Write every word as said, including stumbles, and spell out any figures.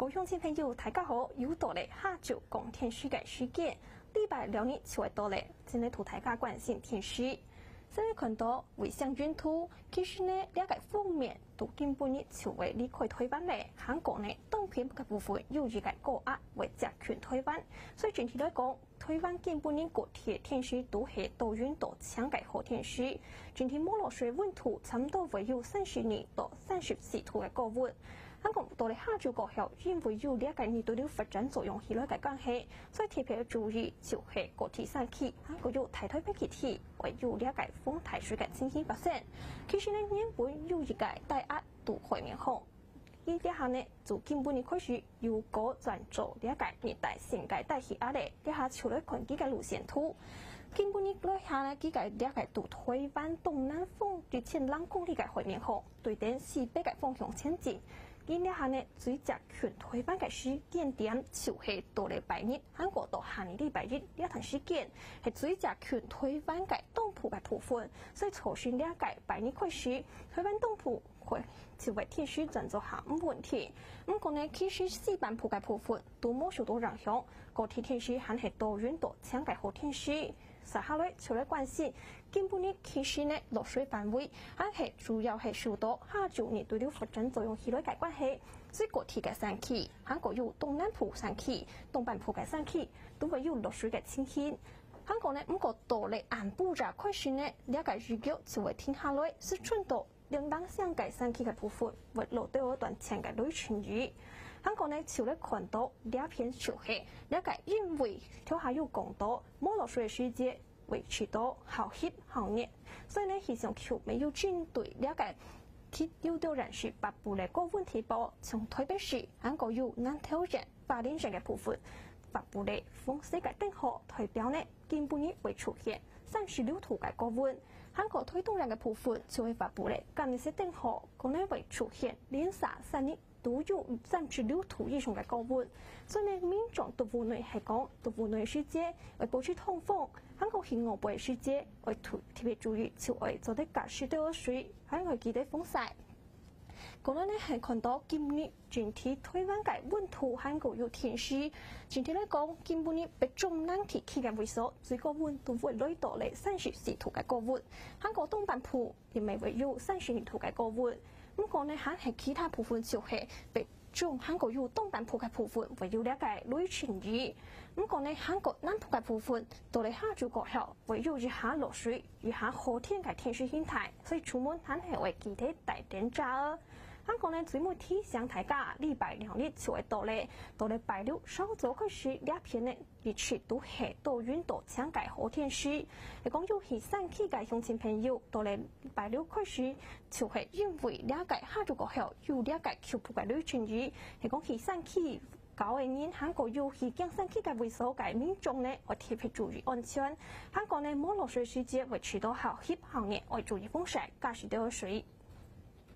各位鄉親朋友，大家好！又到了下晝講天時个時間，禮拜六日就會到了，今日同大家關心天時。先來看到衛星雲圖，其實呢，這個鋒面到今晡日就會離開臺灣了，還過呢，東邊个部分有一個高壓會接近臺灣，所以整體來講， 臺灣今晡日各地个天時都係多雲到晴个好天時，整體無落水，溫度差毋多會有三十二到三十四度个高溫。還過到了下晝過後，因為有這個熱對流發展作用起來个關係，所以特別注意就係高地山區，還過有大台北地區會有這個風大水个情形發生。其實呢，原本有一個低壓在海面項， 因這下呢，自今晡日開始由高轉做這個熱帶性个低氣壓了，這下就來看佢个路線圖。今晡日來下呢，佢个這個在臺灣東南方一千零公里个海面項，對等西北个方向前進。因這下呢，最接近臺灣个時間點就係到了拜日，還過到下日禮拜日這段時間，係最接近臺灣个東部个部分，所以造成這個拜日開始，臺灣東部 會，就會天時轉做下毋穩定。毋過呢，其實西半部个部分都無受到影響，高地天時還係多雲到晴个好天時。接下來就來關心，今晡日其實呢，落水範圍還係主要係受到下晝熱對流發展作用起來个關係，所以高地个山區，還過有東南部山區、東半部个山區，都會有落水个情形。還過呢，毋過到了暗晡夜開始呢，這個雨腳就會停下來，係轉到 零星个山區个部分會落到短暫个雷陣雨。還過呢，就來看到這片就係這個因為頭下有講到，無落水个時節維持到較翕較熱，所以呢，氣象局乜有針對這個氣流到然係北部个高溫地區，像台北市，還過有南投縣、花蓮縣个部分，發布了紅色个燈號，代表呢，今晡日會出現三十六度个高溫。還過台東縣个部分就會發布了柑色燈號，可能會出現連續三日都有三十六度以上个高溫。所以呢，民眾在屋內係講，在屋內時節愛保持通風，還過去外背時節愛特，特別注意，就愛做得加濕倒水，還愛記得防曬。 過來呢，還看到今日整體台灣个溫度還過有天時。整體來講，今晡日北中南地區个位所，最高溫度會來到了三十四度个高溫。還過東半部，也乜會有三十二度个高溫。毋過呢，還係其他部分就係北中還過有東半部个部分會有這個雷陣雨。毋過呢，還過南部个部分，到了下晝過後，會有一下落水， 一下好天个天時形態，所以出門還係愛記得帶等遮哦。還過呢，最尾提醒大家，禮拜六日就會到了，到了拜六稍早開始，這片呢，一直都係多雲到晴个好天時。係講有去山區个鄉親朋友，到了拜六開始，就係因為這個下晝過後有這個局部个雷陣雨，係講去山區 郊个人，還過有去行山區个位所个民眾呢，愛特別注意安全。還過呢，無落水時節會持續較翕較熱，愛注意防曬，加濕倒水。